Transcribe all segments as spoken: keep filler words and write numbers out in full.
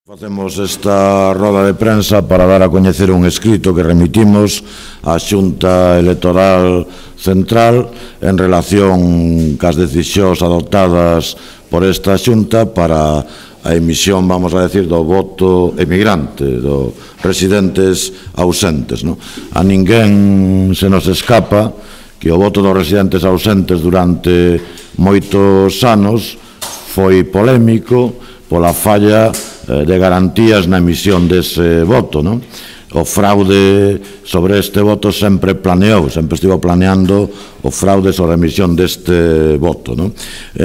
Facemos esta roda de prensa para dar a coñecer un escrito que remitimos á Xunta Electoral Central en relación cas decisións adoptadas por esta Xunta para a emisión, vamos a decir, do voto emigrante, dos residentes ausentes. No? A ninguén se nos escapa que o voto dos residentes ausentes durante moitos anos foi polémico pola falla de garantías na emisión dese voto, non? O fraude sobre este voto sempre planeou, sempre estivo planeando o fraude sobre a emisión deste voto, non?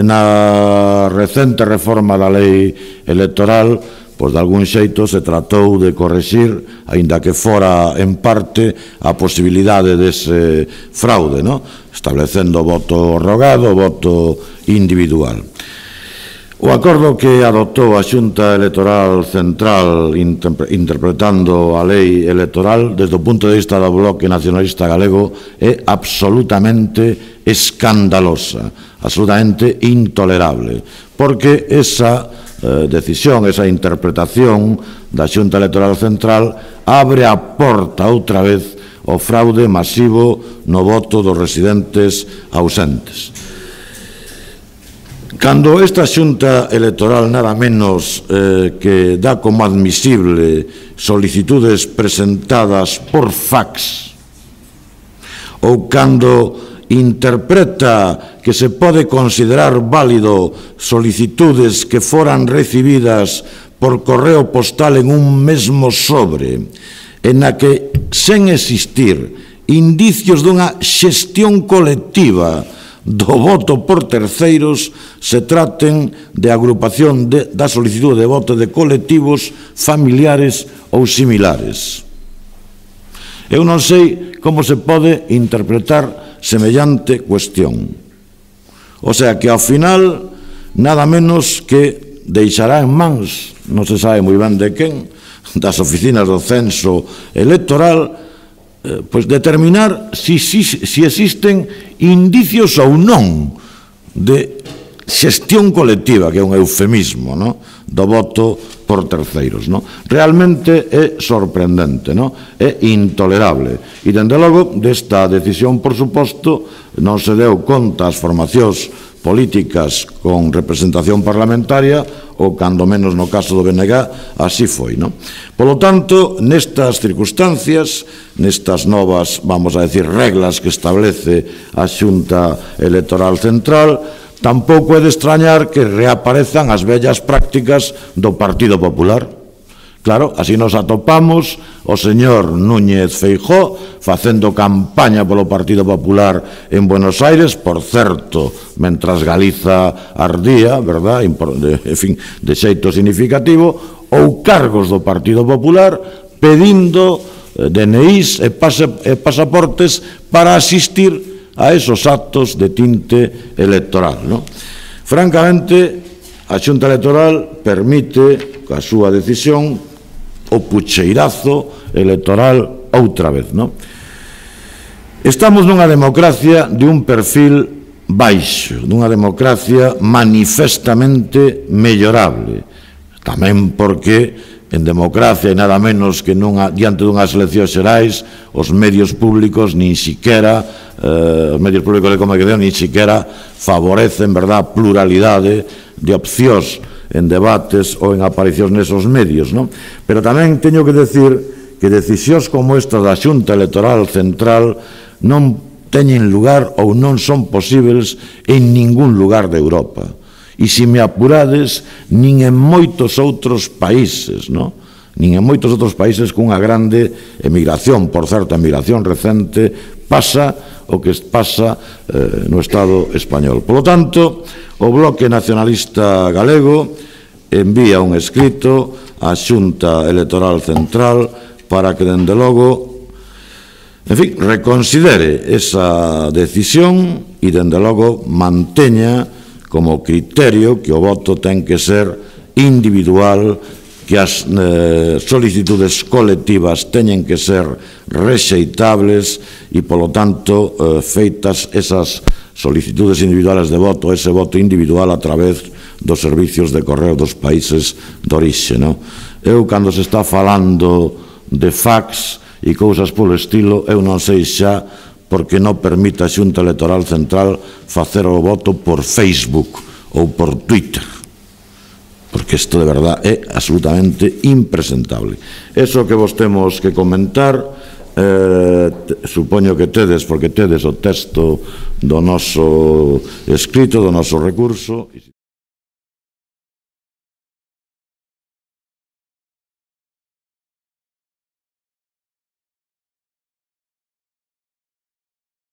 Na recente reforma da lei electoral, pois de algún xeito se tratou de correxir, aínda que fora en parte, a posibilidade dese fraude, non? Establecendo o voto rogado, o voto individual. O acordo que adoptou a Xunta Electoral Central interpretando a lei electoral desde o punto de vista do Bloque Nacionalista Galego é absolutamente escandalosa, absolutamente intolerable, porque esa eh, decisión, esa interpretación da Xunta Electoral Central abre a porta outra vez ao fraude masivo no voto dos residentes ausentes. Cando esta Xunta Electoral nada menos eh, que dá como admisible solicitudes presentadas por fax ou cando interpreta que se pode considerar válido solicitudes que foran recibidas por correo postal en un mesmo sobre, en a que, sen existir indicios dunha xestión colectiva do voto por terceiros, se traten de agrupación de, da solicitud de voto de colectivos familiares ou similares. Eu non sei como se pode interpretar semellante cuestión. O sea que ao final nada menos que deixará en mans, non se sabe moi ben de quen, das oficinas do censo electoral, pois determinar si, si, si existen indicios ou non de xestión colectiva, que é un eufemismo, no? Do voto por terceiros. No? Realmente é sorprendente, no? É intolerable. E, dende logo, desta decisión, por suposto, non se deu conta as formacións políticas con representación parlamentaria ou, cando menos no caso do B N G, así foi. No? Polo tanto, nestas circunstancias, nestas novas, vamos a decir, reglas que establece a Xunta Electoral Central, tampouco é de extrañar que reaparezan as vellas prácticas do Partido Popular. Claro, así nos atopamos o señor Núñez Feijóo facendo campaña polo Partido Popular en Buenos Aires, por certo, mentras Galiza ardía, verdad, en fin, de xeito significativo, ou cargos do Partido Popular pedindo D N Is e pasaportes para asistir a esos actos de tinte electoral. No? Francamente, a Xunta Electoral permite, coa súa decisión, o pucheirazo electoral outra vez. No? Estamos nunha democracia de un perfil baixo, dunha democracia manifestamente mellorable, tamén porque en democracia e nada menos que nunha, diante dunhas eleccións xerais, os medios públicos nin siquera, eh, os medios públicos de comunicación nin siquera favorecen, verdad, a pluralidade de opcións en debates ou en aparicións nesos medios, non? Pero tamén teño que decir que decisións como esta da Xunta Electoral Central non teñen lugar ou non son posibles en ningún lugar de Europa. E se me apurades, nin en moitos outros países, non? Nin en moitos outros países cunha grande emigración, por certo, a emigración recente, pasa o que pasa eh, no Estado español. Por lo tanto, o Bloque Nacionalista Galego envía un escrito á Xunta Electoral Central para que, dende logo, en fin, reconsidere esa decisión e, dende logo, manteña como criterio que o voto ten que ser individual, que as eh, solicitudes colectivas teñen que ser rexeitables e, polo tanto, eh, feitas esas solicitudes individuales de voto, ese voto individual a través dos servicios de correo dos países de orixe, non? Eu, cando se está falando de fax e cousas polo estilo, eu non sei xa porque non permite a Xunta Electoral Central facer o voto por Facebook ou por Twitter, porque isto de verdad é absolutamente impresentable. Eso que vos temos que comentar, eh, supoño que tedes, porque tedes o texto do noso escrito, do noso recurso.